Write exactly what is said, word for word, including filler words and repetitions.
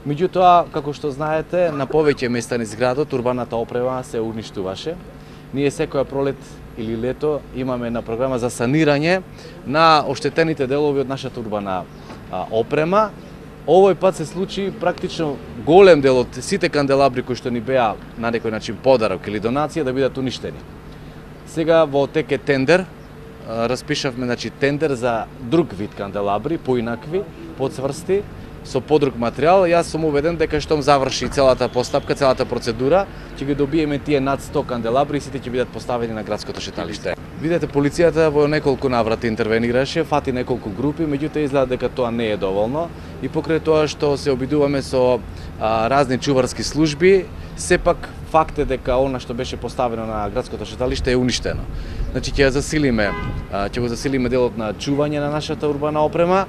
Меѓутоа, како што знаете, на повеќе места низ градот урбаната опрема се уништуваше. Ние секоја пролет или лето имаме на програма за санирање на оштетените делови од нашата урбана опрема. Овој пат се случи практично голем дел од сите канделабри кои што ни беа на некој начин подарок или донација да бидат уништени. Сега во тек е тендер, распишавме значи тендер за друг вид канделабри, поинакви, подсврсти, со подруг материјал. Јас сум убеден дека штом заврши целата постапка, целата процедура, ќе ги добиеме тие над сто канделабри и сите ќе бидат поставени на градското шеталиште. Видете, полицијата во неколку наврати интервенираше, фати неколку групи, меѓутоа изгледа дека тоа не е доволно и покрај тоа што се обидуваме со а, разни чуварски служби, сепак факт е дека она што беше поставено на градското шеталиште е уништено. Значи ќе засилиме, ќе го засилиме делот на чување на нашата урбана опрема.